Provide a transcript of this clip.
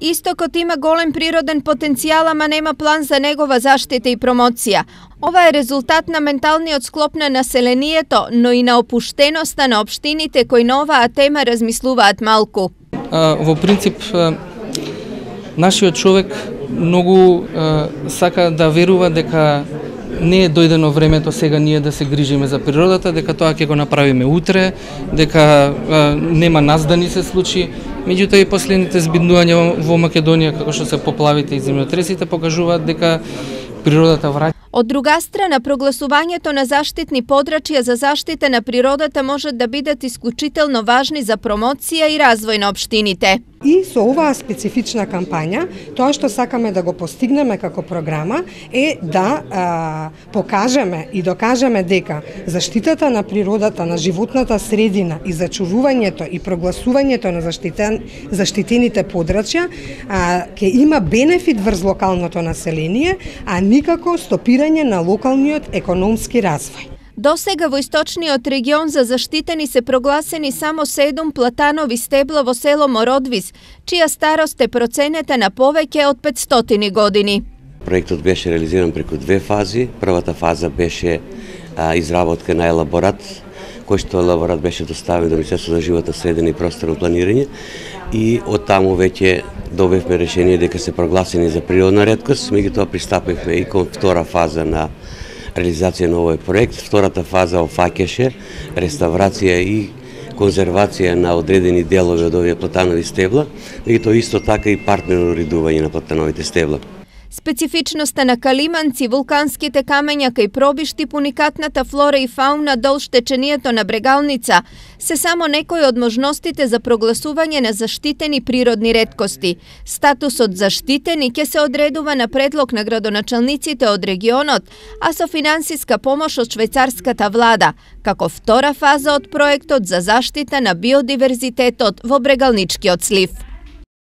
Истокот има голем природен потенцијал, ама нема план за негова заштита и промоција. Ова е резултат на менталниот склоп на населението, но и на опуштеноста на општините кои на оваа тема размислуваат малку. Во принцип, нашиот човек многу сака да верува дека не е дојдено времето сега ние да се грижиме за природата, дека тоа ќе го направиме утре, дека нема нас да ни се случи. Меѓутоа и последните збиднувања во Македонија, како што се поплавите и земјотресите, покажуваат дека природата враќа. Од друга страна, прогласувањето на заштитни подрачја за заштита на природата можат да бидат исклучително важни за промоција и развој на општините. И со оваа специфична кампања, тоа што сакаме да го постигнеме како програма е да покажеме и докажеме дека заштитата на природата, на животната средина и зачувувањето и прогласувањето на заштитените подрачја ќе има бенефит врз локалното население, а никако стопирање на локалниот економски развој. Досега во источниот регион за заштитени се прогласени само 7 платанови стебла во село Мородвис, чија старост е проценета на повеќе од 500 години. Проектот беше реализиран преку две фази. Првата фаза беше изработка на елаборат, кој што елаборат беше доставен до Министерството за животна средина и просторно планирање, и од таму веќе добивме решение дека се прогласени за природна реткост. Меѓутоа пристапивме и кон втора фаза на реализација на овој проект. Втората фаза офаќаше реставрација и конзервација на одредени делови од овие платанови стебла, меѓутоа исто така и партнерно уредување на платановите стебла. Специфичноста на калиманци, вулканските камења кај пробишти, уникатната флора и фауна долж течението на Брегалница се само некои од можностите за прогласување на заштитени природни реткости. Статусот заштитени ќе се одредува на предлог на градоначалниците од регионот, а со финансиска помош од швајцарската влада, како втора фаза од проектот за заштита на биодиверзитетот во Брегалничкиот слив.